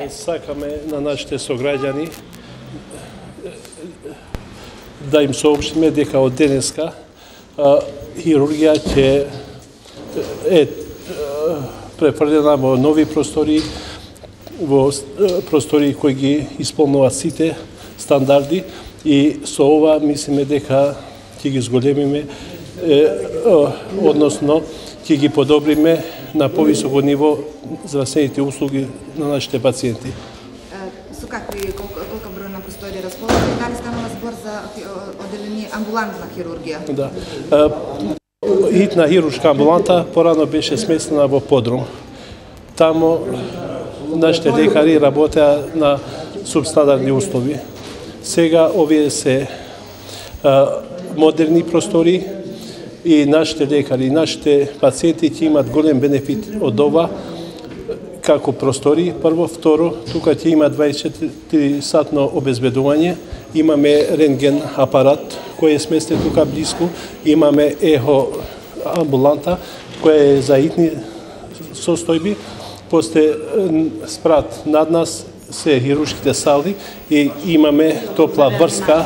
Сакаме на нашите сограѓани да им соопштиме дека од денеска хирургија ќе е префрлена во нови простори, во простори кои ги исполнуваат сите стандарди и со ова мислиме дека ќе ги зголемиме, односно ќе ги подобриме на повисоко ниво здравствените услуги на нашите пациенти. Со колка број на простори располагате? Дали станува збор за одделение амбулантна хирургија? Да. Хитна хируршка амбуланта порано беше сместена во подрум. Тамо нашите лекари работеа на субстандардни услови. Сега овие се модерни простори и нашите лекари, нашите пациенти ќе имат голем бенефит од ова, како простори, прво, второ, тука ќе има 24-сатно обезбедување, имаме рентген апарат кој е сместен тука близко, имаме ехо амбуланта која е за хитни состојби, после спрат над нас се хируршките сали и имаме топла врска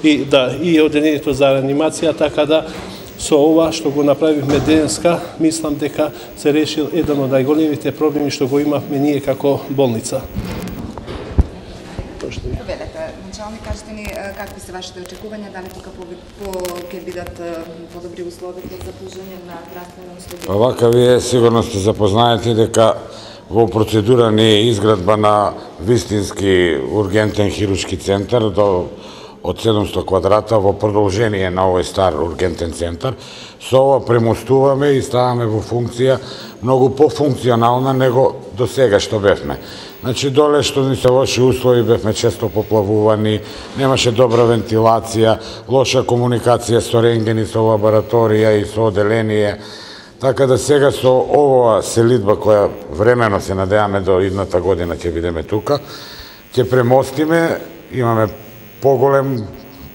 и одделението за реанимација, така да со ова што го направивме денеска, мислам дека се решил еден од најголемите проблеми што го имавме ние како болница. Началник, кажете ни какви се вашите очекувања, дали тука ќе бидат подобри условите за пруžање на здравствени услуги? Овака вие сигурно сте запознаети дека во процедура не е изградба на вистински ургентен хируршки центар од 700 квадрата во продолжение на овој стар ургентен центар. Со ова премостуваме и ставаме во функција многу пофункционална него до сега што бевме. Значи, доле што ни се лоши услови, бевме често поплавувани, немаше добра вентилација, лоша комуникација со рентгени, со лабораторија и со одделение. Така да сега со оваа селидба која времено се надеваме до идната година ќе бидеме тука, ќе премостиме, имаме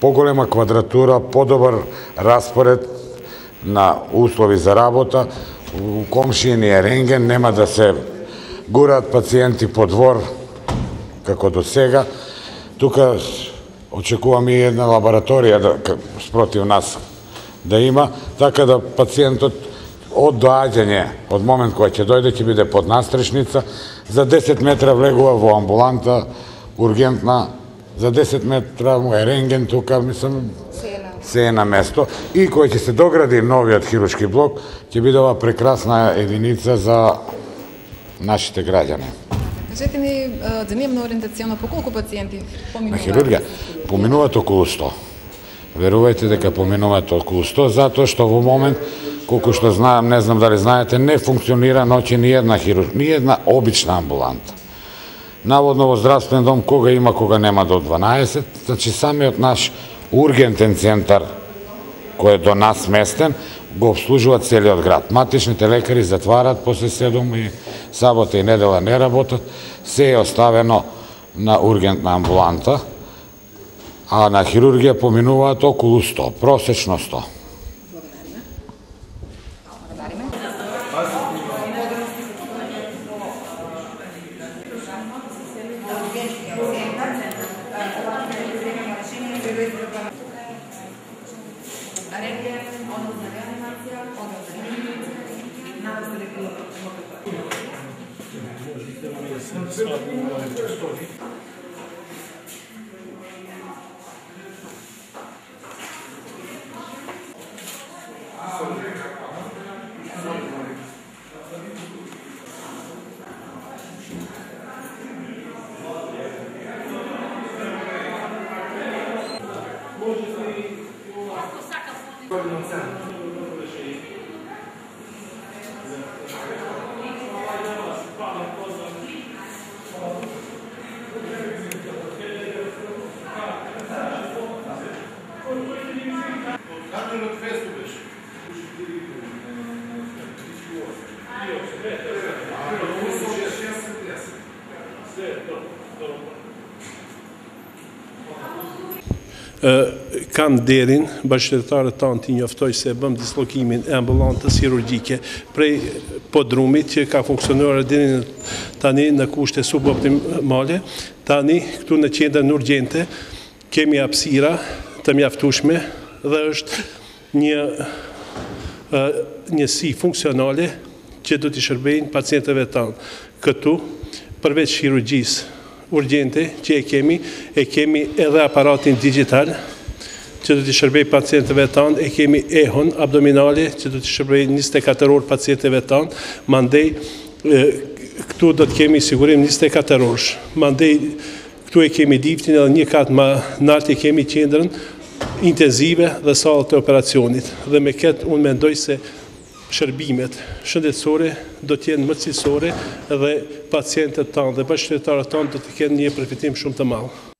поголема квадратура, подобар распоред на услови за работа, у комшијниот рентген, нема да се гураат пациенти по двор како до сега. Тука очекуваме и една лабораторија спротив нас да има, така да пациентот од доаѓање, од момент кој ќе дојде, ќе биде под настрешница, за 10 метра влегува во амбуланта ургентна, за 10 метра му е рентген тука, мислам, се е на место. И кој ќе се догради новиот хируршки блок, ќе биде ова прекрасна единица за нашите граѓани. Кажете ми, дневно ориентационно по колку пациенти поминуваат? На хирургија поминуваат околу 100. Верувајте дека поминуваат околу 100, затоа што во момент, колку што знаам, не знам дали знаете, не функционира ноќе ни една обична амбуланта. Наводно во здравствен дом кога има, кога нема до 12, значи самиот наш ургентен центар кој е до нас сместен, го обслужува целиот град. Матичните лекари затварат после 7 и сабота и недела не работат, се е оставено на ургентна амбуланта, а на хирургија поминуваат околу 100, просечно 100. Kam derin bashkëtarët tanë t'i njoftoj se bëm dislokimin e ambulantës chirurgjike prej podrumit që ka funksionuar deri tani në kushte suboptimale. Tani këtu në qendrën urgjente kemi hapësira të mjaftueshme dhe është një njësi funksionale që do t'i shërbejnë pacientëve tanë. Këtu, përveç chirurgjisë urgjente që e kemi edhe aparatin digital që do t'i shërbej pacientëve tanë, e kemi ehon abdominale që do t'i shërbej 24 orë pacientëve tanë, mandej këtu do t'kemi sigurim 24 orësh. Mandej këtu e kemi diftin edhe një katë më nalt e kemi qendrën intenzive dhe salët e operacionit. Dhe me këtë unë mendoj se shërbimet shëndetësore do t'jenë më cilësore dhe pacientët tanë dhe bashkëtarët tanë do të kenë një përfitim shumë të madh.